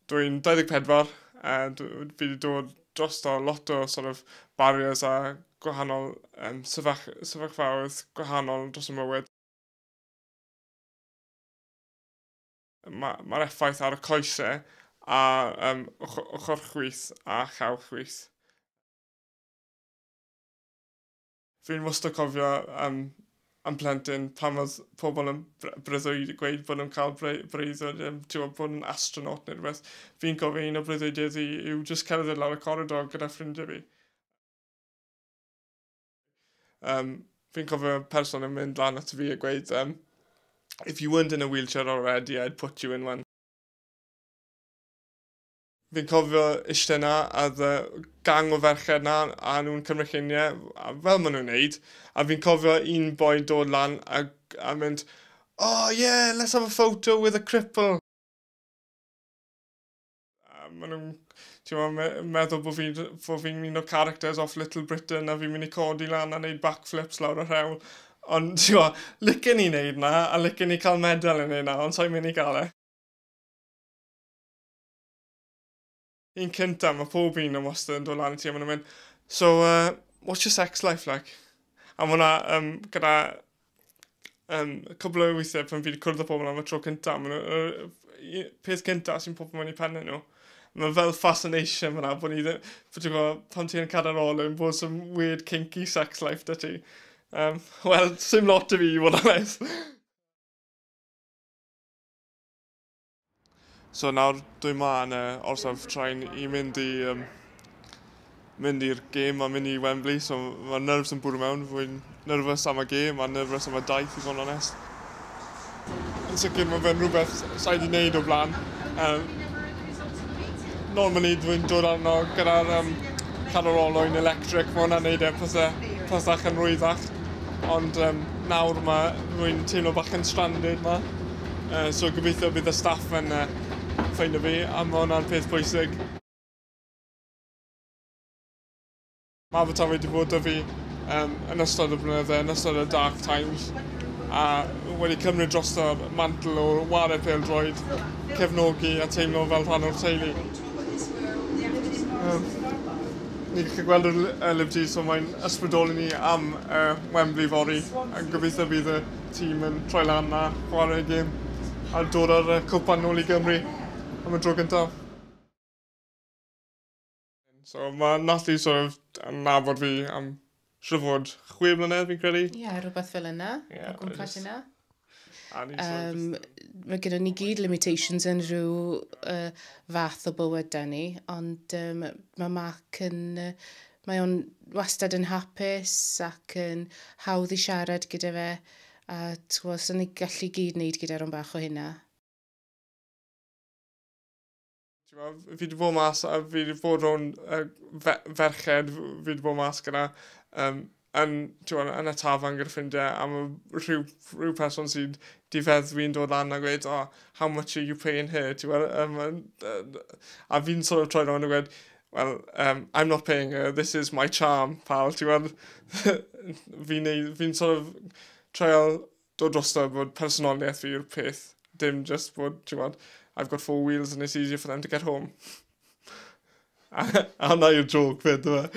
Dwi'n 24 a fi wedi dod drosto lot o sort of barriers a gwahanol sefyllfaoedd gwahanol dros y mywyd. Mae'r effaith ar y coesau a ochr chwith a llaw chwith. Fi'n wastad cofio am plentyn pan oedd pobl yn breuddwyd, gweud bod nhw'n cael breuddwyd, ti'n bod yn astronaut neu rhywbeth. Fi'n cofio un o breuddwydiau fi yw just cerdded lawr y corridor gyda ffrindiau fi. Fi'n cofio person yn mynd lan at fi a gweud, "If you weren't in a wheelchair already, I'd put you in one." Fi'n cofio eistedd 'na, a oedd y gang o ferched 'na, a nhw'n cymryd lluniau, a fel maen nhw'n neud, a fi'n cofio un boi dod lan a mynd, "Oh yeah, let's have a photo with a cripple." A maen nhw'n, ti'n meddwl, meddwl bod fi'n un o characters off Little Britain a fi'n mynd i codi lan a neud backflips lawr y rhewl. Ond, ti'n gwybod, licen i neud na, a licen i cael medal yn neud na, ond sa'n mynd i gael e. Un cynta, mae pob un yn wastad yn dod lan i ti a maen nhw'n mynd, "So, what's your sex life like?" A mae hwnna gyda cwbl o weithiau pan fi wedi cwrdd â pobl am y tro cynta, maen nhw, peth cynta sy'n popio mewn i pennau nhw. Mae fel fascination fyna, bod ni ddim, bod ti'n gwybod, pan ti'n cadair olwyn, bod some weird kinky sex life 'da ti. Wel, sim lot o fi i fod yn onest. So nawr dwi 'ma yn y orsaf train i mynd i'r gêm a mynd i Wembley, so mae'r nerves yn bwrw mewn. Fwy'n nervous am y gêm a nervous am y daith, i fod yn onest. Yn sicr mae fe'n rhywbeth sa'i wedi wneud o blaen. Normally dwi'n dod arno gyda'r cadair olwyn electric, mae hwnna'n neud e pethach yn rwyddach. Ond nawr mae rwy'n teimlo bach yn stranded ma. So gobeithio bydd y staff yn ffeindio fi, a mae hwnna'n peth pwysig. Mae Abertawe wedi bod 'da fi yn ystod y blynydde, yn ystod y dark times, a wedi cymryd drosto'r mantle o ware pêl-droed, cefnogi a teimlo fel rhan o'r teulu. Ni'n gallu gweld y Liberty, so mae'n ysbrydoli ni am Wembley fory. A gobeithio bydd y tîm yn troi lan a chwarae gêm a dod ar y cwpan nôl i Gymru am y dro gyntaf. So mae Natalie sort of yn nabod fi am siŵr fod 6 mlynedd, fi'n credu. Ie, yeah, rhywbeth fel yna. Ie, o gwmpas yna. A ni sort of Mae gyda ni gyd limitations yn rhyw fath o bywydau ni, ond mae Mark yn... Mae o'n wastad yn hapus ac yn hawdd i siarad gyda fe. A ti'n gwybod, ni gallu gyd wneud gyda rhan bach o hynna. Ti'n gwbod, fi wedi bod mas a fi wedi bod rownd ferched fi wedi bod mas gyda yn, ti'n gwbod, yn y tafarn gyda ffrindiau a mae rhyw person sy'n di feddwi'n dod lan a gweud, "Oh, how much are you paying her?" Ti'n gwbod, a fi'n sort of troi rownd a gweud, "Well, I'm not paying her, this is my charm, pal," ti'n gwbod. Fi'n sort of trial dod drosto bod personoliaeth fi yw'r peth, dim just bod, ti'n gwbod, I've got four wheels and it's easier for them to get home. A hwnna yw'r joke fyd, yma.